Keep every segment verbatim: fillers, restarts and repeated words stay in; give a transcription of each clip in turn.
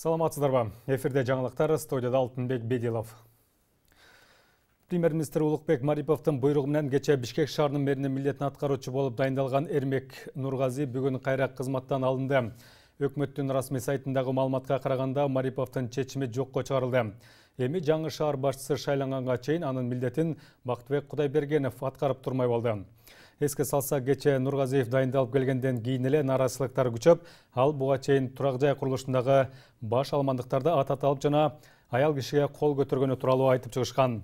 Саламатсыздарбы? Эфирде жаңылыктар, студияда Алтынбек Бедилов. Премьер-министр Улукбек Мариповдун буйругу менен кече Бишкек шаарынын мэринин милдетин аткаруучу болуп дайындалган Эрмек Нургази бүгүн кайра кызматтан алынды. Өкмөттүн расмий сайтындагы маалыматка караганда Мариповдун чечими жокко чыгарылды. Эми жаңы шаар башчысы шайланганга чейин анын милдетин Бактыбек Кудайбергенов аткарып турмай болду. Эске салса, кече Нургазиев дайындалып келгенден кийин эле нааразычылыктар күчөп, ал буга чейин турак жай курулушундагы баш алмандыктарды ататалып жана аял кишиге кол көтөргөнү тууралуу айтып чыгышкан.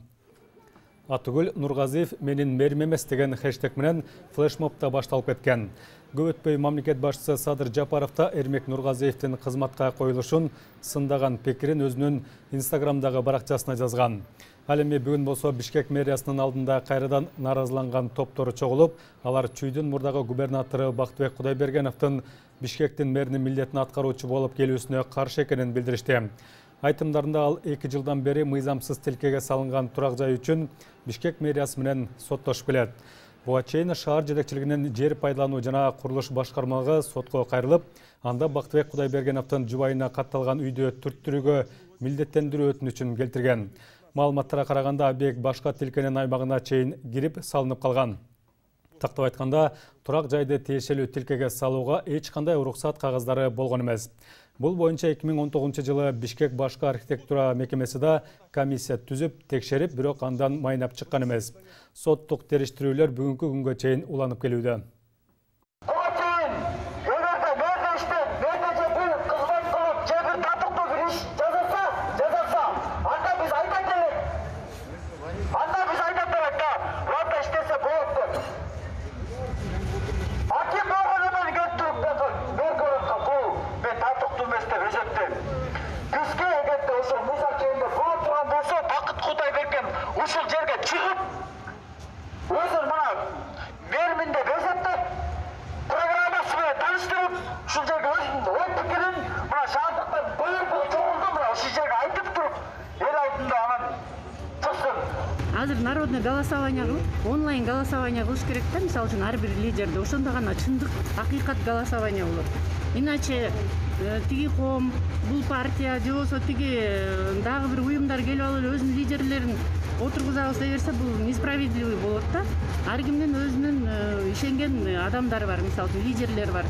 Атыгүл Нургазиев менин мэрим эмес деген хэштег менен флешмобта башталып кеткен. Көп өтпөй мамлекет башчысы Садыр Жапаров да Эрмек Нургазиевдин кызматка коюлушун сындаган пикирин өзүнүн Инстаграмдагы баракчасына жазган. Ал эми бүгүн болсо Бишкек мэриясынын алдында кайрадан нааразыланган топтору чогулуп, алар чүйдүн мурдагы губернатору Бактыбек Кудайбергеновдун Бишкектин мэринин милдетин аткаруучу болуп келүүсүнө каршы экенин билдиришти. Айтымдарында ал эки жылдан бери мыйзамсыз тилкеге салынган турак жай үчүн Бишкек мэриясы менен соттошуп келет. Буга чейин шаар жетекчилигинин жер пайдалануу жана курулуш башкармалыгы сотко кайрылып, анда Бактыбек Кудайбергеновдун жубайына катталган үйдө түрттүрүүгө милдеттендирүү өтүнүчүн келтирген. Маалыматтарга караганда объект башка тилкенин аймагына чейин кирип салынып калган. Тактап айтканда, турак жайды тиешелүү тилкеге салууга эч кандай уруксат кагаздары болгон эмес. Бул боюнча эки миң он тогузунчу жылы Бишкек башкы архитектура мекемеси да комиссия түзүп, текшерип, бирок андан майнап чыккан эмес. Соттук териштирүүлөр бүгүнкү күнгө чейин уланып келүүдө. Ушул жерге чыгып, өзүн мына берминде көрсөтүп, программасы менен таныштырып, ушул жерге өзүнүн ой пикирин мына шаардыктан бөлүп чогулду, мына ушул жерге айтып туруп, эл алдында анан чыксын. Азыр народный голосование кылып, онлайн голосование кылыш керек да, мисалы үчүн ар бир лидерди. Ошондо гана чындык, акыйкат голосование болот. Иначе тиги коом, бул партия же болбосо тиги дагы бир уюмдар келип алып эле өзүнүн лидерлерин отургузабыз дей берсе, бул несправедливый болот да. Ар кимдин өзүнүн ишенген адамдары бар, мисалы үчүн лидерлер бар.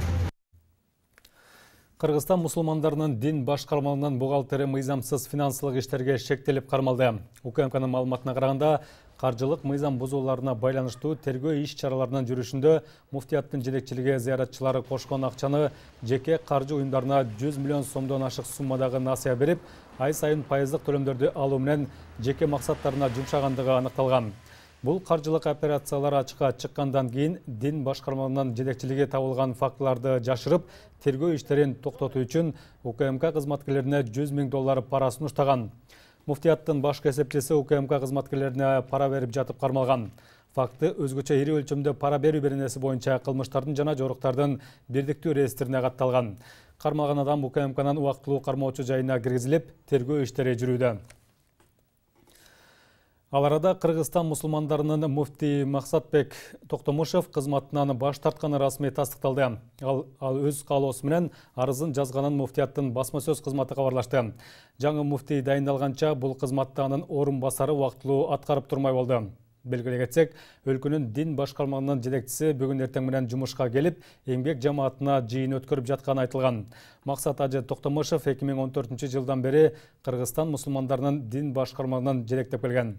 Кыргызстан мусулмандарынын дин башкармалыгынын бухгалтери мыйзамсыз финансылык иштерге шектелип кармалды. УКМКнын маалыматына караганда, каржылык мыйзам бузууларына байланыштуу тергөө иш чараларынын жүрүшүндө муфтияттын жетекчилиги зыяратчылары кошкон акчаны жеке каржы уюмдарына жүз миллион сомдон ашык суммадагы насыя берип, ай сайын пайыздык төлөмдөрдү алуу менен жеке максаттарына жумшагандыгы аныкталган. Бул каржылык операциялар ачыкка чыккандан кийин дин башкармалыгынын жетекчилиги табылган фактыларды жашырып, тергөө иштерин токтотуу үчүн УКМК кызматкерлерине жүз миң доллар пара сунуштаган. Муфтияттын башкы эсепчиси УКМК кызматкерлерине пара берип жатып кармалган. Факты өзгөчө ири өлчөмдө пара берүү беренеси боюнча кылмыштардын жана жоруктардын бирдиктүү реестрине катталган. Кармалган адам УКМКнын убактылуу кармоочу жайына киргизилип, тергөө иштери жүрүүдө. Ал арада Кыргызстан мусулмандарынын муфти Максатбек Токтомушев кызматынан баш тартканы расмий тастыкталды. Ал, ал өз каалоосу менен арызын жазганын муфтияттын басма сөз кызматы кабарлашты. Жаңы муфти дайындалганча бул кызматты анын орун басары убактылуу аткарып турмай болду. Белгилей кетсек, өлкөнүн дин башкармалыгынын жетекчиси бүгүн эртең менен жумушка келип, эмгек жамаатына жыйын өткөрүп жатканы айтылган. Максат Ажы Токтомушев эки миң он төртүнчү жылдан бери Кыргызстан мусулмандарынын дин башкармалыгынан жетектеп келген.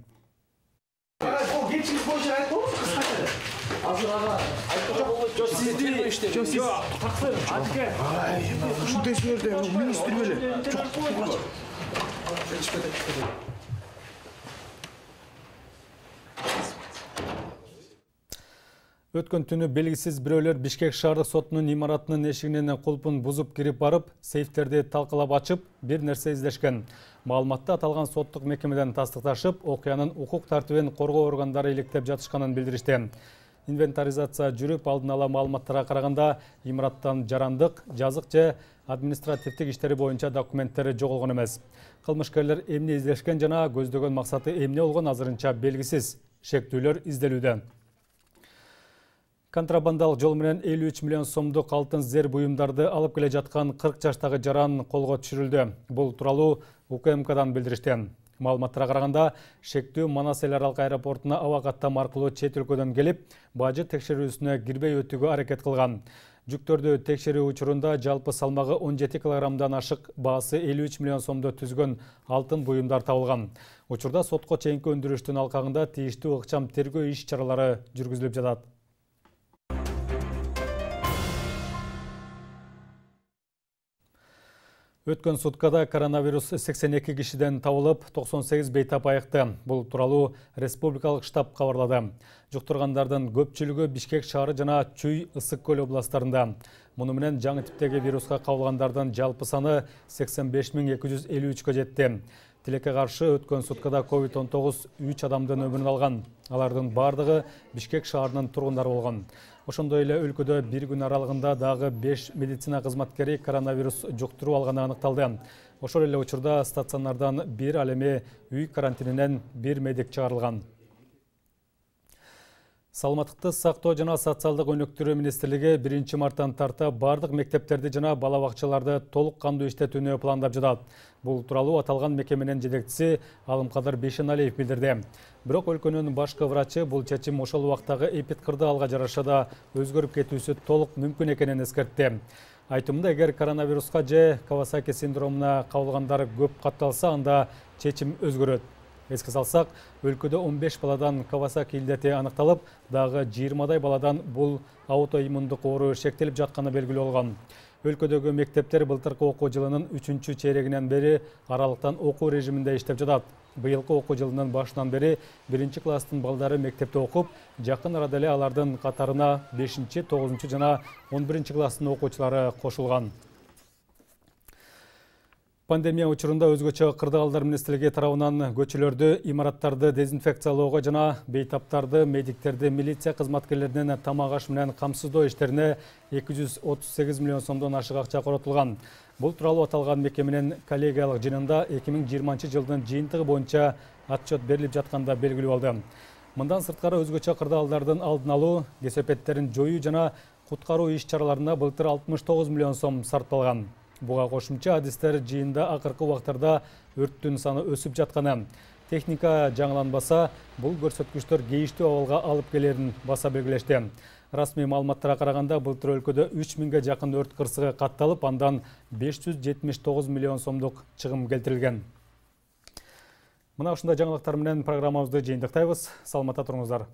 Өткөн түнү белгисиз бирөөлөр Бишкек шаардык сотунун имаратынын эшигинин кулпун бузуп кирип барып, сейфтерди талкалап ачып, бир нерсе издешкен. Маалыматта аталган соттук мекемеден тастыкташып, окуянын укук тартибин коргоо органдары иликтеп жатышканын билдиришти. Инвентаризация жүрүп, алдын ала маалыматтарга караганда имараттан жарандык, жазык же административдик иштери боюнча документтери жоголгон эмес. Кылмышкерлер эмне издешкен жана көздөгөн максаты эмне болгон азырынча белгисиз. Шектүүлөр изделүүдө. Контрабандалык жол менен элүү үч миллион сомдук алтын зер буюмдарды алып келе жаткан кырк жаштагы жаран колго түшүрүлдү. Бул тууралуу У К М Кдан билдиришти. Маалыматтарга караганда, шектүү Манас эл аралык аэропортуна аба каттам аркылуу чет өлкөдөн келип, бажы текшерүүсүнө кирбей өтүүгө аракет кылган. Жүктөрдү текшерүү учурунда жалпы салмагы он жети килограммдан ашык, баасы элүү үч миллион сомдо түзгөн алтын буюмдар табылган. Учурда сотко чейинки өндүрүштүн алкагында тийиштүү ыкчам тергөө иш чаралары жүргүзүлүп жатат. Өткөн суткада коронавирус сексен эки кишиден табылып, токсон сегиз бейтап айыкты. Бул тууралуу республикалык штаб кабарлады. Жуктургандардын көпчүлүгү Бишкек шаары жана Чүй, Ысык көл областарында. Муну менен жаңы типтеги вируска кабылгандардын жалпы саны сексен беш миң эки жүз элүү үчкө жетти. Тилекке каршы өткөн суткада ковид он тогуз үч адамдын өмүрүн алган. Алардын бардыгы Бишкек шаарынын тургундары болгон. Ошондой эле өлкөдө бир күн аралыгында дагы беш медицина кызматкери коронавирус жуктуруп алганы аныкталды. Ошол эле учурда стационардан бир, ал эми үй карантининен бир медик чыгарылган. Саламаттыкты сактоо жана социалдык өнүктүрүү министрлиги биринчи марттан тарта бардык мектептерди жана бала бакчаларды толук кандуу иштетүүнү пландап жатат. Бул тууралуу аталган мекеменин жетекчиси Алымкадыр Бейшеналиев билдирди. Бирок өлкөнүн башкы врачы бул чечим ошол убактагы эпидкырды алга жараша да өзгөрүп кетүүсү толук мүмкүн экенин эскертти. Айтымында, эгер коронавируска же Кавасаки синдромуна кабылгандар көп катталса, анда чечим өзгөрөт. Эске салсак, өлкөдө он беш баладан Кавасаки илдети аныкталып, дагы жыйырмадай баладан бул аутоиммундук оору шектелип жатканы белгилүү болгон. Өлкөдөгү мектептер былтыркы окуу жылынын үчүнчү чейрегинен бери аралыктан окуу режиминде иштеп жатат. Быйылкы окуу жылынын башынан бери биринчи класстын балдары мектепте окуп, жакын арада эле алардын катарына бешинчи, тогузунчу жана он биринчи класстын окуучулары кошулган. Пандемия учурунда өзгөчө кырдаалдар министрлиги тарабынан көчөлөрдү, имараттарды дезинфекциялоого жана бейтаптарды, медиктерди, милиция кызматкерлеринин тамак аш менен камсыздоо иштерине эки жүз отуз сегиз миллион сомдон ашык акча коротулган. Бул тууралуу аталган мекеменин коллегиялык жыйынында эки миң жыйырманчы жылдын жыйынтыгы боюнча отчет берилип жатканда белгилүү болду. Мындан сырткары өзгөчө кырдаалдардын алдын алуу, кесепеттерин жоюу жана куткаруу иш чараларына былтыр алтымыш тогуз миллион сом сарпталган. Буга кошумча адистер жыйында акыркы убактарда өрттүн саны өсүп жатканы, техника жаңыланбаса, бул көрсөткүчтөр кейиштүү абалга алып келерин баса белгилешти. Расмий маалыматтарга караганда, былтыр өлкөдө үч миңге жакын өрт кырсыгы катталып, андан беш жүз жетимиш тогуз миллион сомдук чыгым келтирилген. Мына ушундай жаңылыктар менен программабызды жыйынтыктайбыз. Саламатта туруңуздар.